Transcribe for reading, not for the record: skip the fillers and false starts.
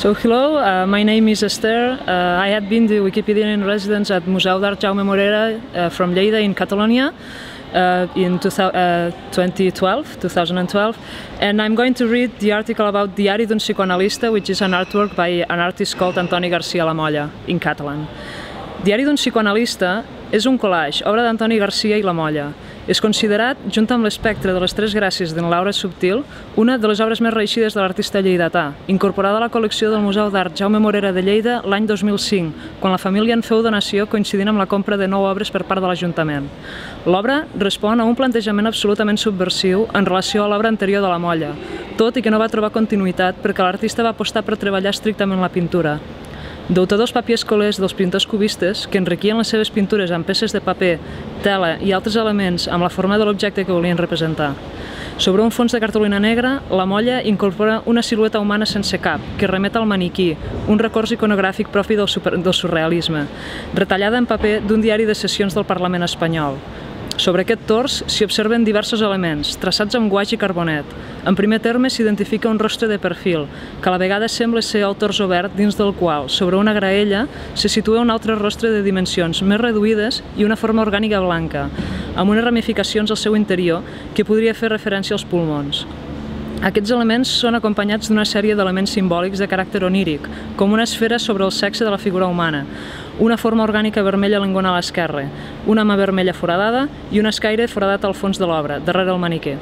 So hello, my name is Esther. I had been the Wikipedian resident at Museu d'Art Jaume Morera from Lleida in Catalonia in 2012, and I'm going to read the article about Diari d'un psicoanalista, which is an artwork by an artist called Antoni Garcia La Molla in Catalan. Diari d'un psicoanalista és un collage, obra d'Antoni Garcia i La Molla. És considerat, junt amb l'espectre de les tres gràcies d'en Laura Subtil, una de les obres més reeixides de l'artista lleidatà, incorporada a la col·lecció del Museu d'Art Jaume Morera de Lleida l'any 2005, quan la família en feu donació coincidint amb la compra de 9 obres per part de l'Ajuntament. L'obra respon a un plantejament absolutament subversiu en relació a l'obra anterior de La Molla, tot i que no va trobar continuïtat perquè l'artista va apostar per treballar estrictament la pintura. Deutadors papier-escolers dels pintors cubistes, que enriquien les seves pintures amb peces de paper, tela i altres elements amb la forma de l'objecte que volien representar. Sobre un fons de cartolina negra, La Molla incorpora una silueta humana sense cap, que remet al maniquí, un recurs iconogràfic propi del surrealisme, retallada en paper d'un diari de sessions del Parlament espanyol. Sobre aquest tors s'hi observen diversos elements, traçats amb guaix i carbonet. En primer terme s'identifica un rostre de perfil, que a la vegada sembla ser el tors obert dins del qual, sobre una graella, se situa un altre rostre de dimensions més reduïdes i una forma orgànica blanca, amb unes ramificacions al seu interior que podria fer referència als pulmons. Aquests elements són acompanyats d'una sèrie d'elements simbòlics de caràcter oníric, com una esfera sobre el sexe de la figura humana, una forma orgànica vermella a l'engonal esquerre, una mà vermella foradada i un escaire foradat al fons de l'obra, darrere el maniquer.